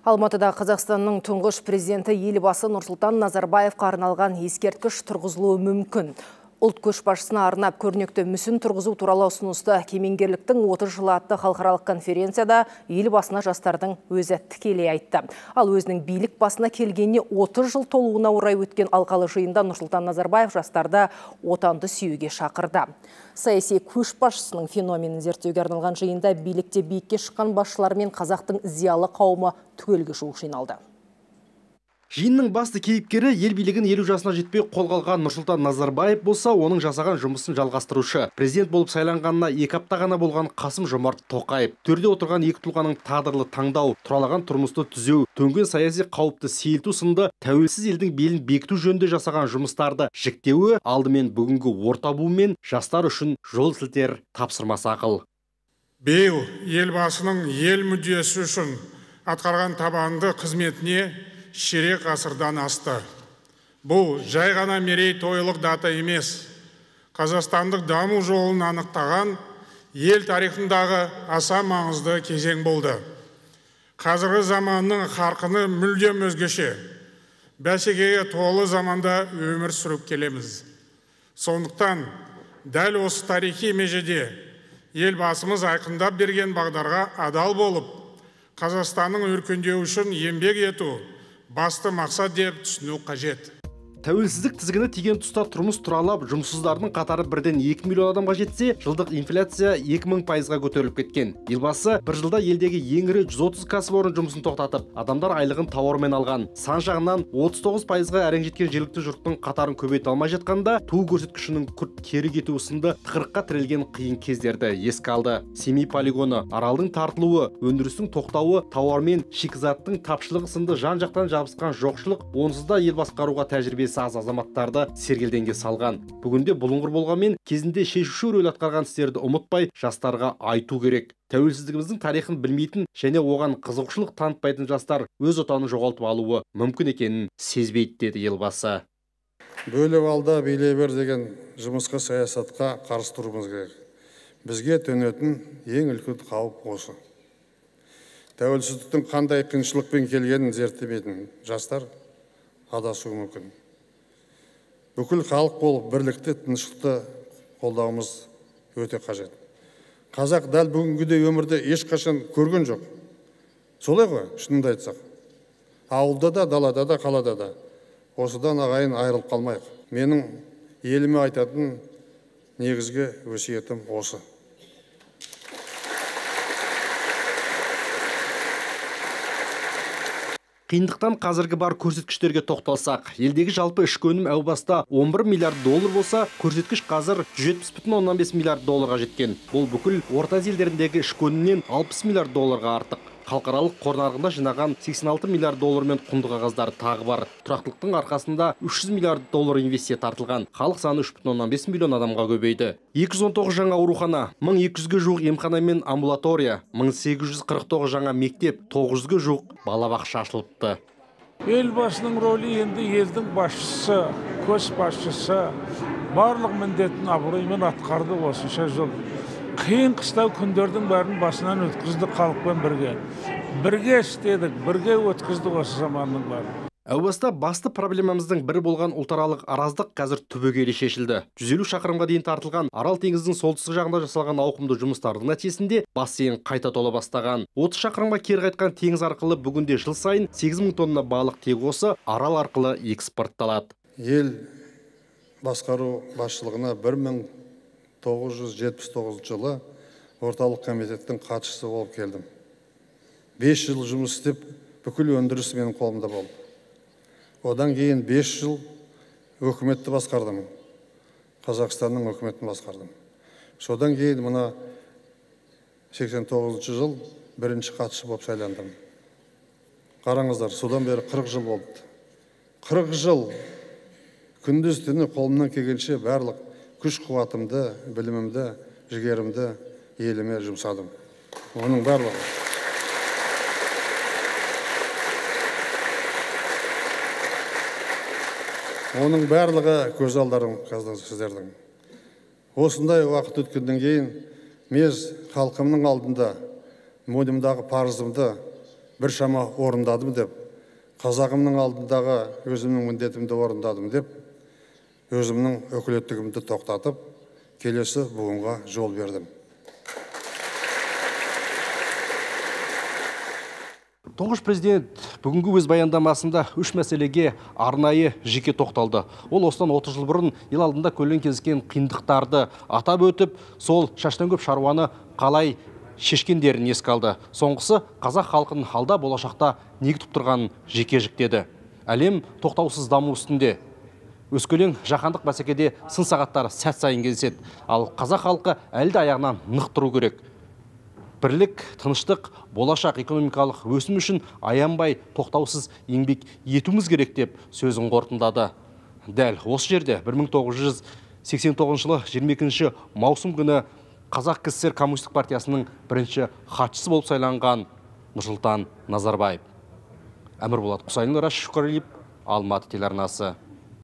Алматыда Қазақстанның тұңғыш президенті елбасы Нұрсұлтан Назарбаевқа арналған ескерткіш тұрғызылуы мүмкін. Ұлт көшбасшысына арнап көрнекті мүсін тұрғызу туралы ұсынысты кемеңгерліктің 30 жылы атты халықаралық конференцияда елбасына жастардың өзі тікелей айтты. Ал өзінің билік басына келгеніне 30 жыл толуына орай өткен алқалы жиында Нұрсұлтан Назарбаев жастарды отанды сүюге шақырды. Саяси көшбасшысының феноменін зерттеуге арналған жиында билікте биікке шыққан басшылар мен қазақтың зиялы қауымы түгелге жуық жиналды. Жиынның басты кейіпкері ел билігін 50 жасына жетпей қолға алған Нұрсұлтан Назарбаев болса, оның жасаған жұмысын жалғастырушы. Президент болып сайланғанына 2 апта ғана болған Қасым-Жомарт Тоқаев. Төрде отырған екі тұлғаның тағдырлы таңдау, тұралаған тұрмысты түзеу, төнген саяси қауіпті сейілту сынды тәуелсіз елдің белін бекіту жөнінде жасаған жұмыстарды жіктеуі алдымен бүгінгі орта буын мен жастар үшін жол сілтер тапсырмасы ақыл. Биыл елбасының ел мүддесі үшін атқарған табанды қызметіне ширек ғасырдан асты. Бұл жай ғана мерейтойлық дата емес. Қазақстандық даму жолын анықтаған ел тарихындағы аса маңызды кезең болды. Қазіргі заманның қарқыны мүлдем өзгеше. Бәсекеге толы заманда өмір сүріп келеміз. Сондықтан дәл осы тарихи межеде елбасымыз айқындап берген бағдарға адал болып, Қазақстанның өркендеуі үшін еңбек ету басты мақсат деп түсіну қажет. Тәуелсіздік тізгіні тиген тұста тұрмыс тұралап, жұмыссыздардың қатары бірден 2 миллион адамға жетсе, жылдық инфляция 2000%-ға көтеріліп кеткен. Елбасы бір жылда елдегі ең ірі 130 кәсіпорын жұмысын тоқтатып, адамдар айлығын тауармен алған. Сан жағынан 39%-ға әрең жеткен жергілікті жұрттың қатарын көбейте алмай жатқанда, туу көрсеткішінің күрт кері кетуі сынды тығырыққа тірелген қиын кездерді еске алды. Семей полигоны, аралдың тартылуы, өндірістің тоқтауы, тауармен шикізаттың тапшылығы сынды жан-жақтан жабысқан жоқшылық, онсыз да ел басқаруға тәжірибесі аз азаматтарды сергелденге салған. Бүгінде бұлыңғыр болғанмен кезінде шешуші рөл атқарған істерді ұмытпай жастарға айту керек. Тәуелсіздігіміздің тарихын білмейтін және оған қызығушылық танытпайтын жастар өз отанын жоғалтып алуы мүмкін екенін сезбейді, деді елбасы. Бөліп алда билей бер деген жұмысқа, саясатқа қарсы тұруымыз керек. Бізге төнетін ең үлкен қауіп осы. Тәуелсіздіктің қандай қиыншылықпен келгенін зерттемейтін жастар адасуы мүмкін. Бүкіл халық болып бірлікті, тыныштықты қолдауымыз өте қажет. Қазақ дәл бүгінгідей өмірде ешқашан көрген жоқ. Солай ғой, шынымды айтсақ. Ауылда да, далада да, қалада да. Осыдан ағайын айырылып қалмайық. Менің еліме айтатын негізгі өсиетім осы. Қиындықтан қазіргі бар көрсеткіштерге тоқталсақ, елдегі жалпы ішкі өнім әу баста 11 миллиард доллар болса, көрсеткіш қазір 170,5 миллиард долларға жеткен. Бұл бүкіл орта елдеріндегі ішкі өнімнен 60 миллиард долларға артық. Халықаралық қор нарығында жинаған 86 миллиард доллар мен құнды қағаздар тағы бар. Тұрақтылықтың арқасында 300 миллиард доллар инвестиция тартылған. Халық саны 3,5 миллион адамға көбейді. 219 жаңа аурухана, 1200-ге жуық емхана мен амбулатория, 1849 жаңа мектеп, 900-ге жуық балабақша ашылыпты. Елбасының рөлі енді елдің басшысы, көшбасшысы барлық міндетін абыроймен атқарды осынша жыл. Қиын қыстау күндердің бәрін басынан өткізді халықпен бірге. Бірге істедік, бірге өткізді осы заманның бәрін. Әу баста басты проблемамыздың бірі болған ұлтаралық араздық қазір түбегейлі шешілді. 150 шақырымға дейін тартылған Арал теңізінің солтүстік жағында жасалған ауқымды жұмыстардың нәтижесінде бассейн қайта тола бастаған. 30 шақырымға кері қайтқан теңіз арқылы бүгінде жыл сайын 8000 тонна балық тек осы Арал арқылы экспортталады. Ел басқару басшылығына 1979 жылы орталық комитеттің хатшысы болып келдім. 5 жыл жұмыс істеп, бүкіл өндіріс менің қолымда болды. Одан кейін 5 жыл өкіметті басқардым. Қазақстанның өкіметін басқардым. Содан кейін мұна 89 жыл бірінші хатшы болып сайландым. Қараңыздар, содан бері 40 жыл болды. 40 жыл күндіз түні қолымнан келгенше барлық күш қуатымды, білімімді, жігерімді еліме жұмсадым. Оның барлығы. Оның барлығы көз алдарым қазір сіздердің. Осындай уақыт өткеннен кейін мен халқымның алдында мойнымдағы парызымды біршама орындадым деп, қазағымның алдындағы өзімнің міндетімді орындадым деп, өзімнің өкілеттігімді тоқтатып, келесі буынға жол бердім. Тұңғыш президент бүгінгі өз баяндамасында үш мәселеге арнайы жеке тоқталды. Ол осыдан 30 жыл бұрын ел алдында көлден кезіккен қиындықтарды атап өтіп, сол шаштан көп шаруаны қалай шешкендерін еске алды. Соңғысы қазақ халқын алда болашақта не күтіп тұрғанын жеке жіктеді. Әлем тоқтаусыз даму үстінде. Өскелең жаһандық бәсекеде сын сағаттары сәт сайын кездеседі. Ал қазақ халқы әлде аяғынан нық тұру керек. Бірлік, тыныштық, болашақ экономикалық өсім үшін аянбай тоқтаусыз еңбек етуіміз керек деп сөзін қорытындады. Дәл осы жерде 1989 жылы 22 маусым күні Қазақ КСР Коммунистік партиясының бірінші хатшысы болып сайланған Нұрсұлтан Назарбаев. Әмірболат Құсайынов, Рашид Шүкірәлиев, Алматы телеарнасы.